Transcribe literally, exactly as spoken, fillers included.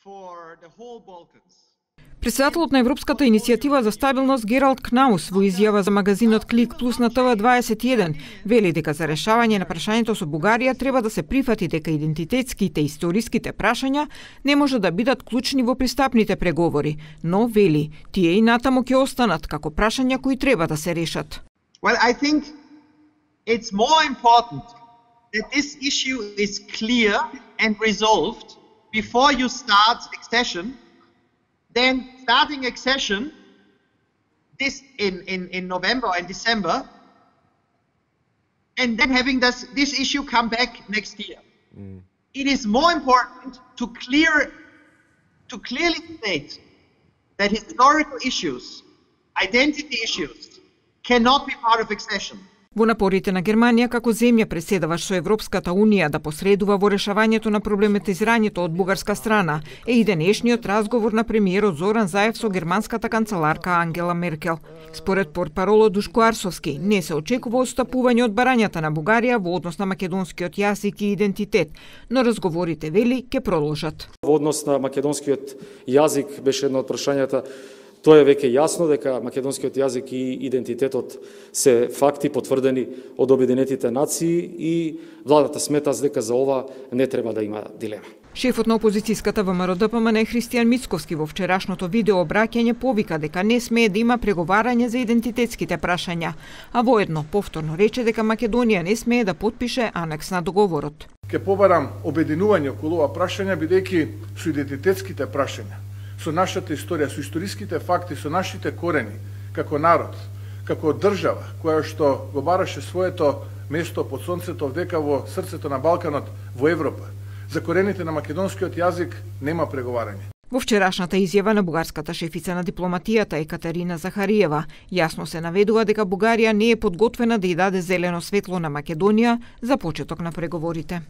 for the whole Balkans. Председателот на Европската иницијатива за стабилност Гералд Кнаус во изјава за магазинот Клик Плюс на Т В дваесет и еден вели дека за решавање на прашањето со Бугарија треба да се прифати дека идентитетските и историските прашања не може да бидат клучни во пристапните преговори, но вели тие и натаму ќе останат како прашања кои треба да се решат. Well, I think it's more important that this issue is clear and resolved before you start accession than starting accession this in, in, in November and December and then having this, this issue come back next year. Mm. It is more important to clear to clearly state that historical issues, identity issues, cannot be part of accession. Во напорите на Германија како земја преседаваш со Европската Унија да посредува во решавањето на проблематизирањето од бугарска страна е и денешниот разговор на премиерот Зоран Заев со германската канцеларка Ангела Меркел. Според портпаролот Душко Арсовски, не се очекува отстапување од барањата на Бугарија во однос на македонскиот јазик и идентитет, но разговорите, вели, ќе продолжат. Во однос на македонскиот јазик беше едно од прашањата. Тоа е веќе јасно дека македонскиот јазик и идентитетот се факти потврдени од Обединетите нации и владата смета дека за ова не треба да има дилема. Шефот на опозицијската ВМРО Д П М Н Христијан Мицковски во вчерашното видео обраќање повика дека не смее да има преговарање за идентитетските прашања, а воедно повторно рече дека Македонија не смее да потпише анекс на договорот. Ке побарам обединување околу ова прашања бидејќи со идентитетските прашања, со нашата историја, со историските факти, со нашите корени, како народ, како држава, која што го бараше своето место под сонцето вдека во срцето на Балканот, во Европа. За корените на македонскиот јазик нема преговарање. Во вчерашната изјава на бугарската шефица на дипломатијата Екатерина Захариева, јасно се наведува дека Бугарија не е подготвена да ја даде зелено светло на Македонија за почеток на преговорите.